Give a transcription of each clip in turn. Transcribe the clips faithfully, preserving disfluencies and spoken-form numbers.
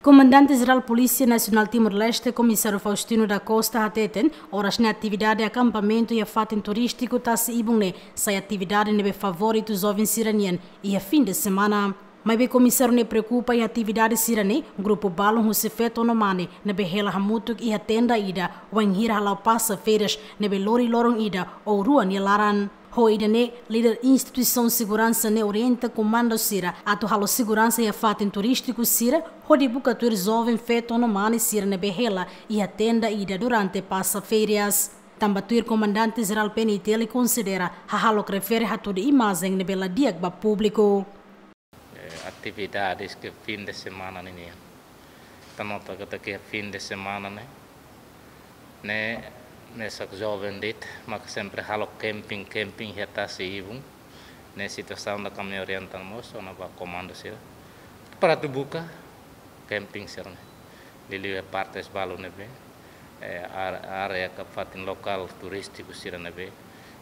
Komandante Jerál Polísia Nasionál Timor-Leste, Komisáriu Faustino da Costa, hateten oras ne'e atividade akampamentu iha fatin turístiku Tasi Ibun ne'e sai atividade ne'ebé favoritu joven sira-nian iha fin de semana. Maibé komisáriu ne'e preokupa iha atividade sira-ne'e, grupu balun husi feto no mane ne'ebé hela hamutuk iha tenda ida wainhira hala'o pasa férias ne'ebé lori loron ida ou rua nia laran. Ho ida-ne'e, líder instituisaun seguransa ne'e orienta komandu sira atu halo seguransa iha fatin turístiku sira, hodi buka tuir joven feto no mane sira ne'ebé hela iha tenda ida durante pasa férias. Tanba tuir Komandante Jerál P N I T L konsidera hahalok refere hatudu imajen ne'ebé la di'ak ba públiku. Eh, atividades ke fin de semana ninian. Ita nota katak fin de semana ne'e, ne'e mesak joven de'it maka sempre halo camping, camping iha Tasi Ibun. Ne'e situasaun ida ami orienta mós ona ba komandu sira para atu buka camping sira-ne'e. Liuliu iha partes balun ne'ebé, eh, ar-, área ka fatin lokál turístiku sira ne'ebé,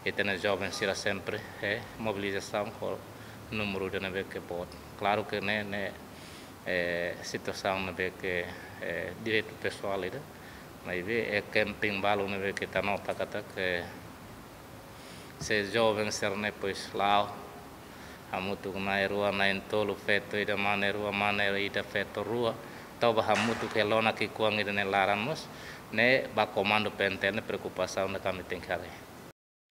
ita-nia joven sira sempre, eh, mobilizasaun ho númeru ida ne'ebé ke boot. Klaru ke ne'e, ne'e, eh, situasaun ne'ebé ke, eh, direitu pesoál ida. Maibé, eh, camping balun ne'ebé ke ita nota katak, eh, se joven sira-ne'e depois la'o hamutuk na'in-rua, na'in-tolu, feto ida, mane rua, mane ida, feto rua, tau ba hamutuk iha lona ki'ikoan ida nia laran mós, ne'e ba komandu P N I T L ne'e preokupasaun ida ami tenke haree.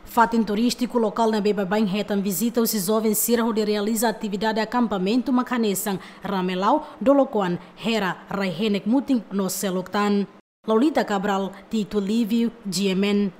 Fatin turístiku lokál ne'ebé baibain hetan vizita husi joven sira hodi realiza atividade akampamentu mak hanesan Ramelau, Dolokoan, Hera, Rai Henek Mutin no seluk tan. Lolita Cabral, Tito Livio, G M N.